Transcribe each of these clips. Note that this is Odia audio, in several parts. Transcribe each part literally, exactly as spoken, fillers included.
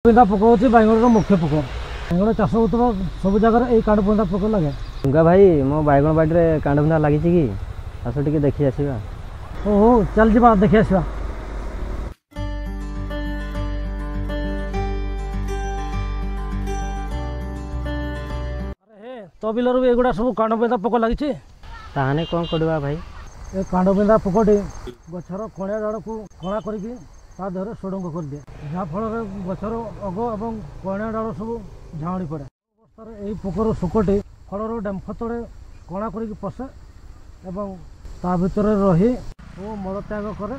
ବିନ୍ଧା ପୋକ ହେଉଛି ବାଇଗଣର ମୁଖ୍ୟ ପୋକ। ବାଇଗଣ ଚାଷ ହେଉଥିବା ସବୁ ଜାଗାରେ ଏଇ କାଣ୍ଡବିନ୍ଧା ପୋକ ଲାଗେ। ଗଙ୍ଗା ଭାଇ, ମୋ ବାଇଗଣ ବାଡ଼ିରେ କାଣ୍ଡବିନ୍ଧା ଲାଗିଛି କି, ଆସ ଟିକେ ଦେଖି ଆସିବା। ହଉ ହଉ, ଚାଲ ଯିବା ଦେଖି ଆସିବା। ଆରେ ହେ, ତୋ ବିଲରୁ ବି ଏଗୁଡ଼ା ସବୁ କାଣ୍ଡବିନ୍ଧା ପୋକ ଲାଗିଛି। ତାହେଲେ କ'ଣ କରିବା ଭାଇ? ଏ କାଣ୍ଡବିନ୍ଧା ପୋକଟି ଗଛର କଣିଆ ଡାଳକୁ କଣା କରିକି ତା ଦେହରେ ସୁଡ଼ଙ୍ଗ କରିଦିଏ, ଯାହାଫଳରେ ଗଛର ଅଗ ଏବଂ କଣିଆ ଡାଳ ସବୁ ଝାଉଁଳି ପଡ଼େ। ଅବସ୍ଥାରେ ଏହି ପୋକର ଶୁକଟି ଫଳର ଡେମ୍ଫ ତଳେ କଣା କରିକି ପଶେ ଏବଂ ତା ଭିତରେ ରହି ଓ ମଳତ୍ୟାଗ କରେ,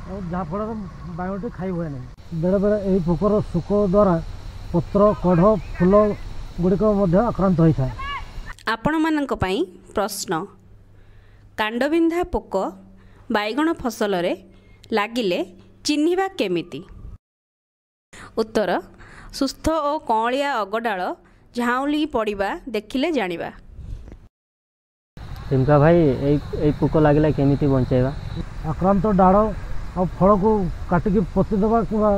ଏବଂ ଯାହାଫଳରେ ବାଇଗଣଟି ଖାଇ ହୁଏ ନାହିଁ। ବେଳେବେଳେ ଏହି ପୋକର ଶୁକ ଦ୍ୱାରା ପତ୍ର, କଢ଼, ଫୁଲ ଗୁଡ଼ିକ ମଧ୍ୟ ଆକ୍ରାନ୍ତ ହୋଇଥାଏ। ଆପଣମାନଙ୍କ ପାଇଁ ପ୍ରଶ୍ନ, କାଣ୍ଡବିନ୍ଧା ପୋକ ବାଇଗଣ ଫସଲରେ ଲାଗିଲେ ଚିହ୍ନିବା କେମିତି? ଉତ୍ତର, ସୁସ୍ଥ ଓ କଅଁଳିଆ ଅଗଡାଳ ଝାଉଁଳି ପଡ଼ିବା ଦେଖିଲେ ଜାଣିବା। ରିଙ୍କା ଭାଇ, ଏଇ ଏଇ ପୋକ ଲାଗିଲେ କେମିତି ବଞ୍ଚାଇବା? ଆକ୍ରାନ୍ତ ଡାଳ ଆଉ ଫଳକୁ କାଟିକି ପୋତି ଦେବା କିମ୍ବା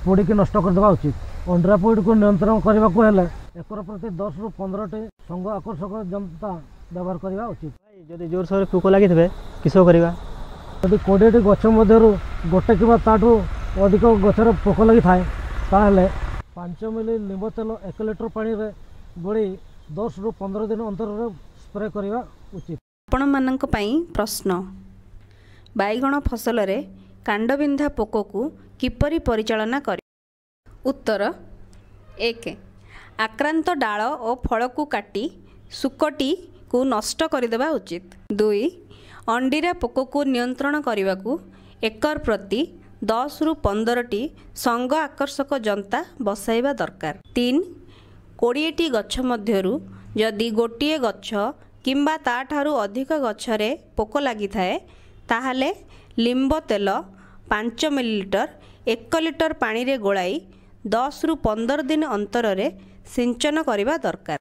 ପୋଡ଼ିକି ନଷ୍ଟ କରିଦେବା ଉଚିତ। ଅଣ୍ଡିରା ପୋଡ଼ିକୁ ନିୟନ୍ତ୍ରଣ କରିବାକୁ ହେଲେ ଏକର ପ୍ରତି ଦଶରୁ ପନ୍ଦରଟି ସଙ୍ଗ ଆକର୍ଷକ ଯନ୍ତା ବ୍ୟବହାର କରିବା ଉଚିତ। ଭାଇ, ଯଦି ଜୋରସୋରରେ ପୋକ ଲାଗିଥିବେ କିସ କରିବା? ଯଦି କୋଡ଼ିଏଟି ଗଛ ମଧ୍ୟରୁ ଗୋଟେ କିମ୍ବା ତାଠୁ ଅଧିକ ଗଛରେ ପୋକ ଲାଗିଥାଏ, ତାହେଲେ ପାଞ୍ଚ ମିଲି ଲିମ୍ବ ତେଲ ଏକ ଲିଟର ପାଣିରେ ଗୋଳେଇ ଦଶରୁ ପନ୍ଦର ଦିନ ଅନ୍ତରରେ ସ୍ପ୍ରେ କରିବା ଉଚିତ। ଆପଣମାନଙ୍କ ପାଇଁ ପ୍ରଶ୍ନ, ବାଇଗଣ ଫସଲରେ କାଣ୍ଡବିନ୍ଧା ପୋକକୁ କିପରି ପରିଚାଳନା କରିବ? ଉତ୍ତର, ଏକ, ଆକ୍ରାନ୍ତ ଡାଳ ଓ ଫଳକୁ କାଟି ଶୁକଟିକୁ ନଷ୍ଟ କରିଦେବା ଉଚିତ। ଦୁଇ, ଅଣ୍ଡିରା ପୋକକୁ ନିୟନ୍ତ୍ରଣ କରିବାକୁ ଏକର ପ୍ରତି ଦଶରୁ ପନ୍ଦରଟି ସଙ୍ଗ ଆକର୍ଷକ ଯନ୍ତା ବସାଇବା ଦରକାର। ତିନି, କୋଡ଼ିଏଟି ଗଛ ମଧ୍ୟରୁ ଯଦି ଗୋଟିଏ ଗଛ କିମ୍ବା ତା'ଠାରୁ ଅଧିକ ଗଛରେ ପୋକ ଲାଗିଥାଏ, ତାହେଲେ ଲିମ୍ବ ତେଲ ପାଞ୍ଚ ମିଲିଲିଟର ଏକ ଲିଟର ପାଣିରେ ଗୋଳାଇ ଦଶରୁ ପନ୍ଦର ଦିନ ଅନ୍ତରରେ ସିଞ୍ଚନ କରିବା ଦରକାର।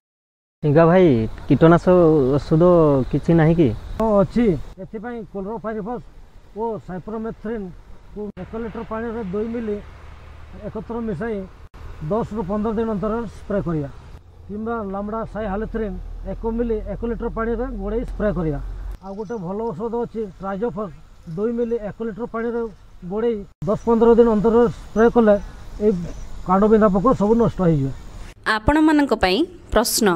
ରିଙ୍କା ଭାଇ, କୀଟନାଶକ ଔଷଧ କିଛି ନାହିଁ କି? ହଁ, ଅଛି। ଏଥିପାଇଁ କ୍ଲୋରୋପାଇରିଫସ୍ ଓ ସାଇପ୍ରୋମେଥ୍ରିନ୍କୁ ଏକ ଲିଟର ପାଣିରେ ଦୁଇ ମିଲି ଏକତ୍ର ମିଶାଇ ଦଶରୁ ପନ୍ଦର ଦିନ ଅନ୍ତରରେ ସ୍ପ୍ରେ କରିବା, କିମ୍ବା ଲାମ୍ଡ଼ା ସାଇହାଲୋଥ୍ରିନ୍ ଏକ ମିଲି ଏକ ଲିଟର ପାଣିରେ ଗୋଳେଇ ସ୍ପ୍ରେ କରିବା। ଆଉ ଗୋଟେ ଭଲ ଔଷଧ ଅଛି, ଟ୍ରାଇଜୋଫସ୍ ଦୁଇ ମିଲି ଏକ ଲିଟର ପାଣିରେ ଗୋଳେଇ ଦଶ ପନ୍ଦର ଦିନ ଅନ୍ତରରେ ସ୍ପ୍ରେ କଲେ ଏଇ କାଣ୍ଡବିନ୍ଧା ପୋକ ସବୁ ନଷ୍ଟ ହେଇଯିବେ। ଆପଣମାନଙ୍କ ପାଇଁ ପ୍ରଶ୍ନ,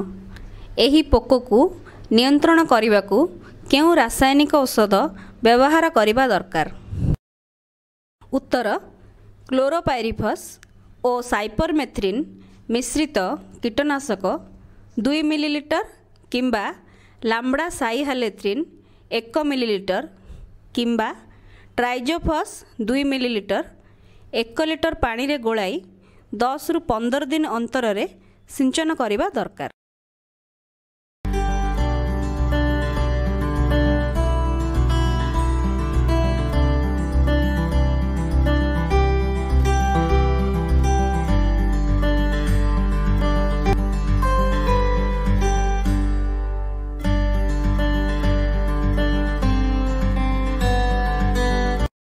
ଏହି ପୋକକୁ ନିୟନ୍ତ୍ରଣ କରିବାକୁ କେଉଁ ରାସାୟନିକ ଔଷଧ ବ୍ୟବହାର କରିବା ଦରକାର? ଉତ୍ତର, କ୍ଲୋରୋପାଇରିଫସ୍ ଓ ସାଇପରମେଥ୍ରିନ୍ ମିଶ୍ରିତ କୀଟନାଶକ ଦୁଇ ମିଲିଲିଟର କିମ୍ବା ଲାମ୍ଡ଼ା ସାଇହାଲୋଥ୍ରିନ୍ ଏକ ମିଲିଲିଟର କିମ୍ବା ଟ୍ରାଇଜୋଫସ୍ ଦୁଇ ମିଲିଲିଟର ଏକ ଲିଟର ପାଣିରେ ଗୋଳାଇ ଦଶରୁ ପନ୍ଦର ଦିନ ଅନ୍ତରରେ ସିଞ୍ଚନ କରିବା ଦରକାର।